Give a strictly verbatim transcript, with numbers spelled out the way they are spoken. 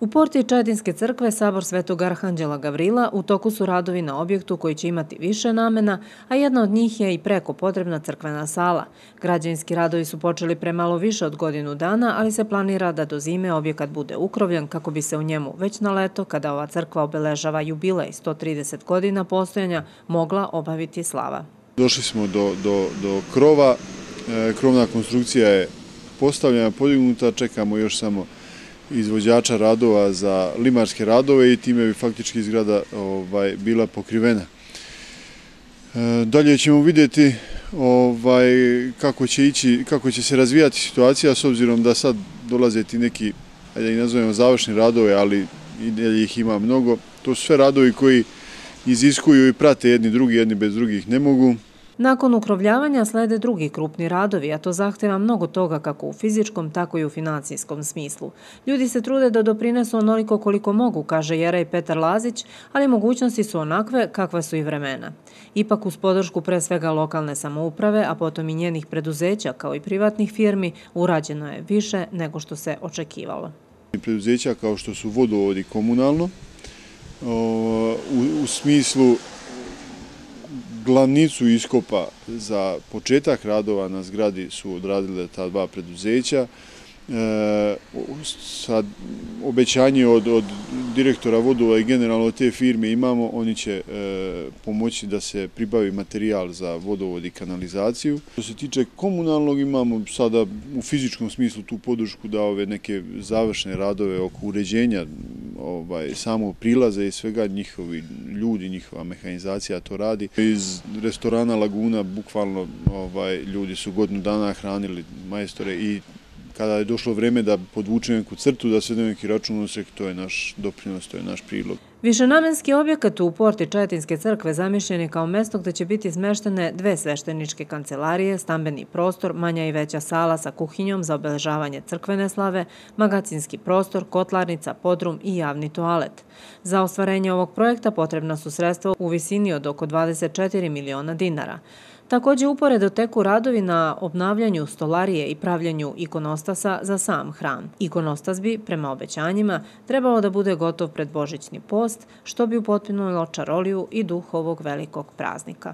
U porti Čajetinske crkve Sabor Svetog Arhanđela Gavrila u toku su radovi na objektu koji će imati više namena, a jedna od njih je i preko potrebna crkvena sala. Građevinski radovi su počeli pre malo više od godinu dana, ali se planira da do zime objekat bude ukrovljen kako bi se u njemu već na leto, kada ova crkva obeležava jubilej sto trideset godina postojanja, mogla obaviti slava. Došli smo do, do, do krova, e, krovna konstrukcija je postavljena, podignuta, čekamo još samo izvođača radova za limarske radove i time bi faktički zgrada ovaj, bila pokrivena. E, dalje ćemo vidjeti ovaj, kako će ići, kako će se razvijati situacija s obzirom da sad dolaze ti neki, ajde ih nazovemo završni radove, ali i dalje ih ima mnogo. To su sve radovi koji iziskuju i prate jedni drugi, jedni bez drugih ne mogu. Nakon ukrovljavanja slede drugi krupni radovi, a to zahteva mnogo toga kako u fizičkom, tako i u financijskom smislu. Ljudi se trude da doprinesu onoliko koliko mogu, kaže Jerej Petar Lazić, ali mogućnosti su onakve kakva su i vremena. Ipak uz podršku pre svega lokalne samouprave, a potom i njenih preduzeća kao i privatnih firmi, urađeno je više nego što se očekivalo. Preduzeća kao što su vodovodi komunalno, u, u smislu glavnicu iskopa za početak radova na zgradi su odradile ta dva preduzeća. E, sad obećanje od, od direktora vodova i generalno od te firme imamo, oni će e, pomoći da se pribavi materijal za vodovod i kanalizaciju. Što se tiče komunalnog, imamo sada u fizičkom smislu tu podršku da ove neke završne radove oko uređenja ovaj, samo prilaze i svega, njihovi ljudi, njihova mehanizacija to radi. Iz restorana Laguna bukvalno ovaj, ljudi su godinu dana hranili majstore i kada je došlo vreme da podvučemo neku crtu, da se neki račun usek, to je naš doprinos, to je naš prilog. Višenamenski objekat u porti Čajetinske crkve zamišljen je kao mesto gde će biti smeštene dve svešteničke kancelarije, stambeni prostor, manja i veća sala sa kuhinjom za obeležavanje crkvene slave, magacinski prostor, kotlarnica, podrum i javni toalet. Za ostvarenje ovog projekta potrebna su sredstva u visini od oko dvadeset četiri miliona dinara. Također uporedo teku radovi na obnavljanju stolarije i pravljenju ikonostasa za sam hram. Ikonostas bi, prema obećanjima, trebalo da bude gotov pred božićni post, što bi upotpunilo čaroliju i duh ovog velikog praznika.